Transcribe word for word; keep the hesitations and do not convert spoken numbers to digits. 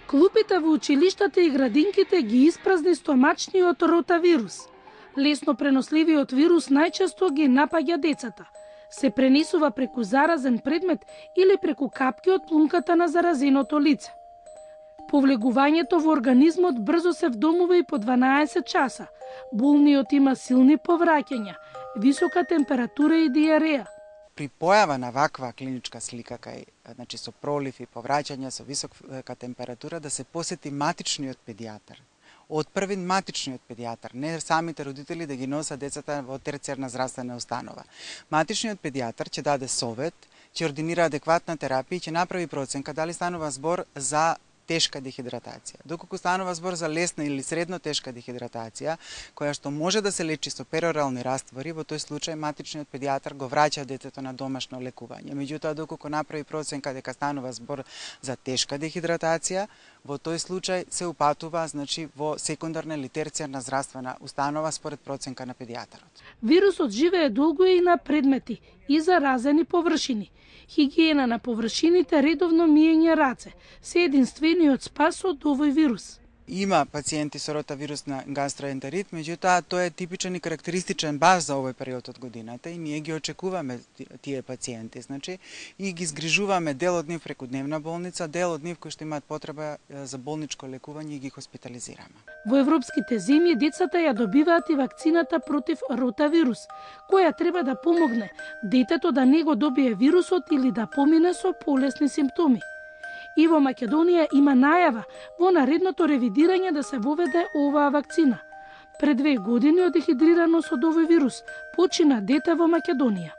Клупите во училиштата и градинките ги испразни стомачниот ротавирус. Лесно преносливиот вирус најчесто ги напаѓа децата. Се пренесува преку заразен предмет или преку капки од плунката на заразеното лице. Повлегувањето во организмот брзо се вдомува и по дванаесет часа. Болниот има силни повраќања, висока температура и диареја. При појава на ваква клиничка слика, кај, значи со пролив и повраќања со висока температура, да се посети матичниот педијатар. Од првин матичниот педијатар, не самите родители да ги носат децата во терцијарна здравствена установа. Матичниот педијатар ќе даде совет, ќе ординира адекватна терапија и ќе направи проценка дали станува збор за тешка дехидратација. Доколку станува збор за лесна или средно тешка дехидратација, која што може да се лечи со перорални раствори, во тој случај матичниот педијатар го враќа детето на домашно лекување. Меѓутоа, доколку направи проценка дека станува збор за тешка дехидратација, во тој случај се упатува, значи, во секундарна или терцијарна здравствена установа според проценка на педијатарот. Вирусот живее долго и на предмети и заразени површини. Хигиена на површините, редовно миење раце се единствениот спас од овој вирус. Има пациенти со ротавирусна гастроентерит, меѓутоа тој е типичен и карактеристичен баш за овој период од годината и ние ги очекуваме тие пациенти, значи, и ги згрижуваме дел од нив преку дневна болница, дел од нив кои што имаат потреба за болничко лекување и ги хоспитализираме. Во европските земји децата ја добиваат и вакцината против ротавирус, која треба да помогне детето да не го добие вирусот или да помине со полесни симптоми. И во Македонија има најава во наредното ревидирање да се воведе оваа вакцина. Пред две години од дехидрираност од овој вирус почина дете во Македонија.